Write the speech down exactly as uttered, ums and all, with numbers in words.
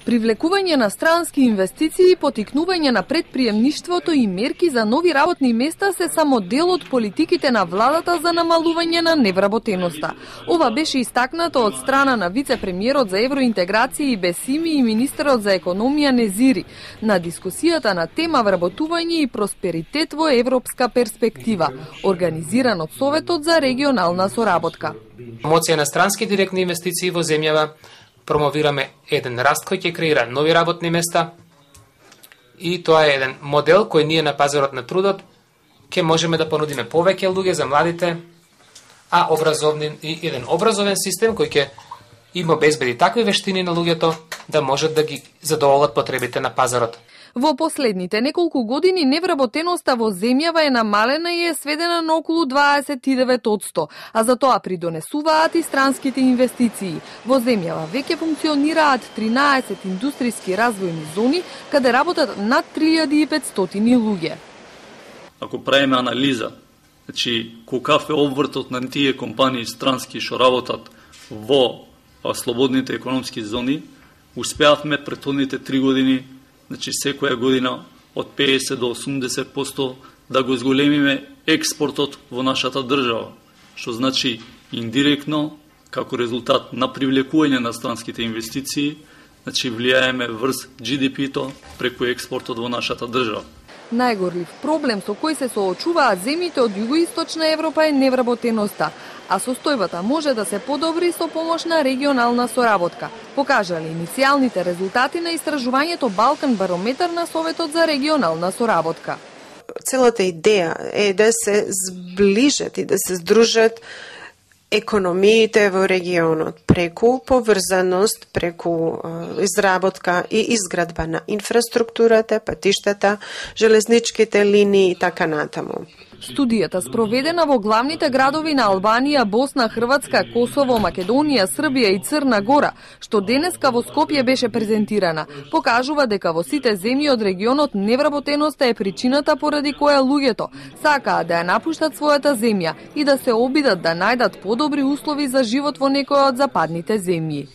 Привлекување на странски инвестиции, потикнување на предприемништвото и мерки за нови работни места се само дел од политиките на владата за намалување на невработеноста. Ова беше истакнато од страна на вице-премиерот за евроинтеграција и Бесими и министерот за економија Незири на дискусијата на тема вработување и просперитет во европска перспектива, организиран од Советот за регионална соработка. Промоција на странски директни инвестиции во земјава, промовираме еден раст кој ќе креира нови работни места и тоа е еден модел кој ние на пазарот на трудот ќе можеме да понудиме повеќе луѓе за младите, а образовни и еден образовен систем кој ќе им обезбеди такви вештини на луѓето да можат да ги задоволат потребите на пазарот. Во последните неколку години невработеноста во земјава е намалена и е сведена на околу дваесет и девет одсто, а за тоа придонесуваат и странските инвестиции. Во земјава веќе функционираат тринаесет индустријски развојни зони, каде работат над три илјади и петстотини луѓе. Ако правиме анализа, значи колкав е обвртот на тие компании странски што работат во слободните економски зони, успеавме претходните три години, значи секоја година од педесет до осумдесет одсто да го зголемиме експортот во нашата држава, што значи индиректно, како резултат на привлекување на странските инвестиции, значи влијаеме врз Джи Ди Пи-то преку експортот во нашата држава. Најгорлив проблем со кој се соочуваат земјите од југоисточна Европа е невработеноста, а состојбата може да се подобри со помош на регионална соработка, покажале иницијалните резултати на истражувањето Балкан барометар на Советот за регионална соработка. Целата идеја е да се зближат и да се здружат економиите во регионот преку поврзаност, преку е, изработка и изградба на инфраструктурата, патиштата, железничките линии и така натаму. Студијата спроведена во главните градови на Албанија, Босна, Хрватска, Косово, Македонија, Србија и Црна Гора, што денеска во Скопје беше презентирана, покажува дека во сите земји од регионот невработеноста е причината поради која луѓето сакаат да ја напуштат својата земја и да се обидат да најдат подобри услови за живот во некоја од западните земји.